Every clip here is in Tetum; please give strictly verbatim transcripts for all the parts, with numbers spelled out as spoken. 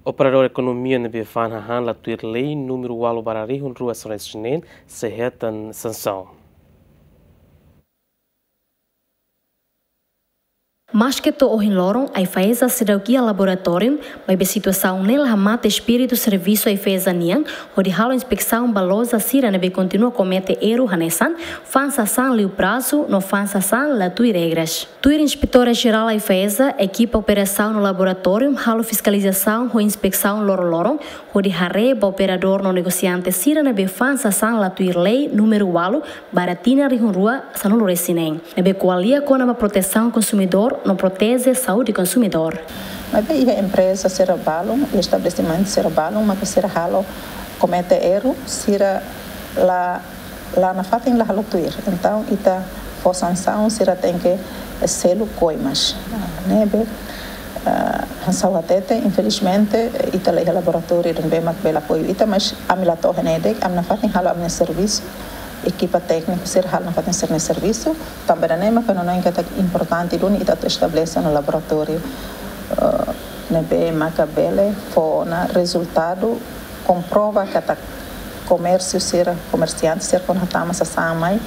Operadór ekonomia ne'ebé fa'an hahán la tuir lei númeru ualu barra rihun rua sanulu-resin-neen sei hetan sansaun. Maske to'o ohin loron, AIFAESA seidauk iha laboratóriu, maibé situasaun ne'e la hamate espíritu servisu AIFAESA nian, hodi halo inspesaun ba loja sira ne'ebé kontinua komete erru hanesan fa'an sasán liu prazu no fa'an sasán la tuir regras. Tuir Inspetora Jerál AIFAESA, ekipa operasaun no laboratóriu halo fiskalizasaun ho inspesaun loroloron, hodi haree ba operadór no negosiante sira ne'ebé fa'an sasán la tuir lei númeru ualu barra tinan rihun rua sanulu-resin-neen, ne'ebé ko'alia kona-ba protesaun konsumidór no proteje saúde konsumidór. Maibé iha empreza sira balun, iha estabelesimentu sira balun, maka sira halo komete erru, sira la, la nafatin la halo tuir. Entaun, ita fó sansaun, sira tenke selu koimas. Ah, ne'ebé, ah, hanesan ha'u hatete, infelizmente, ita la iha laboratóriu ne'ebé mak bele apoiu ita, mas ami la to'o iha ne'e de'it, ami nafatin halo ami-nia servisu, ekipa tékniku sira halo nafatin sira-nia servisu, tanba ida-ne'e maka ha'u hanoin katak importante duni ita atu estabelese ona laboratóriu, eh, ne'ebé maka bele fó ona rezultadu, komprova katak komérsiu sira, komersiante sira kuandu hatama sasán mai,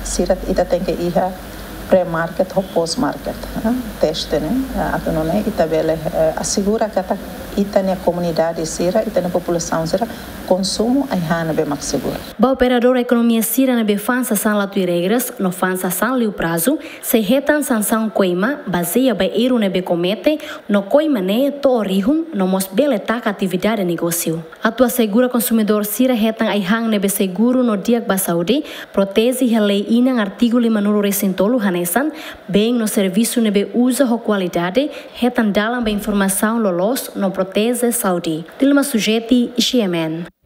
sira ita tenke iha pre-market ho post-market, eh, teste ne'e, eh, atu nune'e ita bele, eh, asegura katak ita-nia komunidade sira, ita-nia populasaun sira konsumu ai-han ne'ebé mak seguru. Ba operadór ekonomia sira ne'ebé fa'an sasán la tuir regras no fa'an sasán liu prazu, sei hetan sansaun koima bazeia ba erru ne'ebé komete, no koima ne'e to'o rihun no mós bele taka atividade negósiu. Atu asegura konsumidór sira hetan ai-han ne'ebé seguru no di'ak ba saúde, proteje iha lei inan artigu limanulu-resin-tolu hanesan, been no servisu ne'ebé uza ho kualidade, hetan dalan ba informasaun loloos no proteje saúde. Dilma Sujeti, GMN.